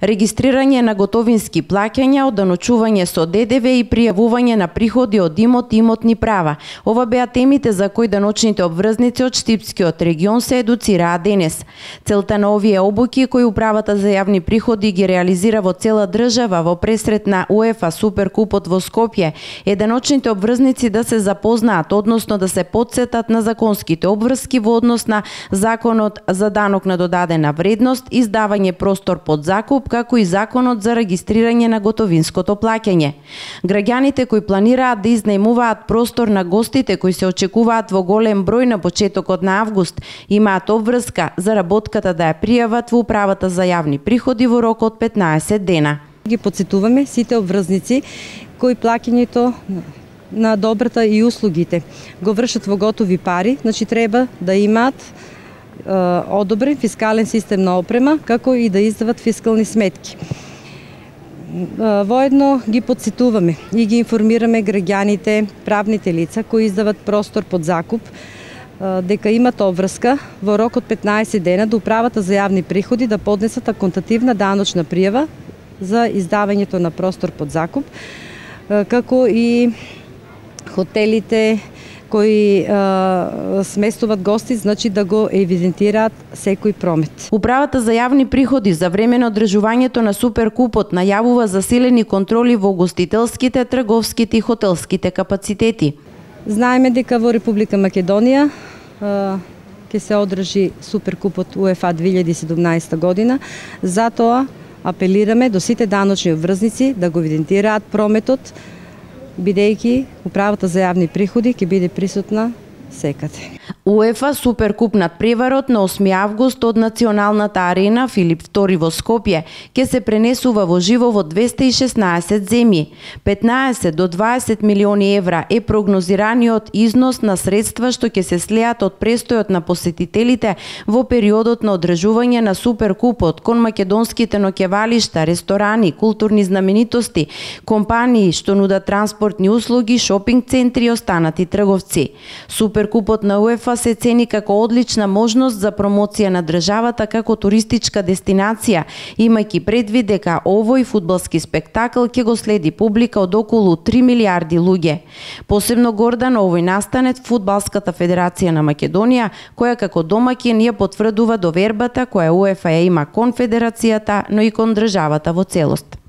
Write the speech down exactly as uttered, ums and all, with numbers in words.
Регистрирање на готовински плаќања, оданочување со Д Д В и пријавување на приходи од имот и имотни права. Ова беа темите за кои даночните обврзници од Штипскиот регион се едуцираа денес. Целта на овие обуки, кои Управата за јавни приходи ги реализира во цела држава во пресрет на УЕФА Суперкупот во Скопје, е даночните обврзници да се запознаат, односно да се потсетат на законските обврски во однос на Законот за данок на додадена вредност, издавање простор под закуп, како и Законот за регистрирање на готовинското плаќање. Граѓаните кои планираат да изнајмуваат простор на гостите кои се очекуваат во голем број на почетокот на август, имаат обврска за работката да ја пријават во Управата за јавни приходи во рок од петнаесет дена. Ги потсетуваме сите обврзници кои плаќањето на добрата и услугите го вршат во готови пари, значи треба да имаат одобрен фискален систем на опрема, како и да издават фискални сметки. Воедно ги потсетуваме и ги информираме граѓаните, правните лица кои издават простор под закуп, дека имат обврска во рок од петнаесет дена до Управата за јавни приходи да поднесат аконтативна даночна пријава за издавањето на простор под закуп, како и хотелите кои а, сместуваат гости, значи да го евидентираат секој промет. Управата за јавни приходи за време на одржувањето на Суперкупот најавува засилени контроли во гостителските, трговските и хотелските капацитети. Знаеме дека во Република Македонија ќе се одржи Суперкупот УЕФА две илјади и седумнаесета година, затоа апелираме до сите даночни обврзници да го евидентираат прометот, бидејќи Управата за јавни приходи ќе биде присутна секаде. УЕФА Суперкуп над преварот на осми август од Националната арена Филип втори во Скопје ќе се пренесува во живо во двесте и шеснаесет земји. петнаесет до дваесет милиони евра е прогнозираниот износ на средства што ќе се слеат од престојот на посетителите во периодот на одржување на Суперкупот кон македонските ноќевалишта, ресторани, културни знаменитости, компании што нудат транспортни услуги, шопинг центри и останати трговци. Суперкупот на УЕФА се цени како одлична можност за промоција на државата како туристичка дестинација, имајќи предвид дека овој фудбалски спектакл ќе го следи публика од околу три милиарди луѓе. Посебно горда на овој настанет Фудбалската федерација на Македонија, која како домаќин ја потврдува довербата која УЕФА ја има кон федерацијата, но и кон државата во целост.